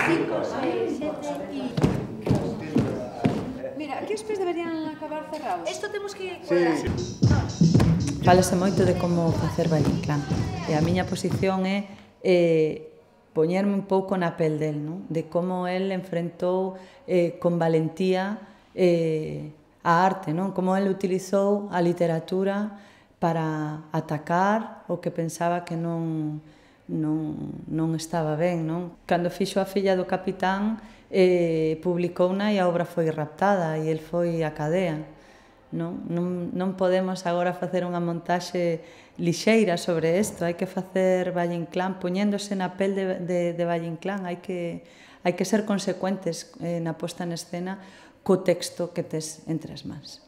5, 6, 7 y... Mira, aquí os pés deberían acabar cerrados. Esto temos que cuadrar. Fálase moito de como facer Valle Inclán. E a miña posición é poñerme un pouco na pel del, non? De como el enfrentou con valentía a arte, non? Como el utilizou a literatura para atacar o que pensaba que non estaba ben, non? Cando fixo A filla do capitán, publicouna e a obra foi raptada e el foi á cadea. Non podemos agora facer unha montaxe lixeira sobre isto, hai que facer Valle Inclán poñéndose na pel de Valle Inclán, hai que ser consecuentes na posta en escena co texto que tes entre as mans.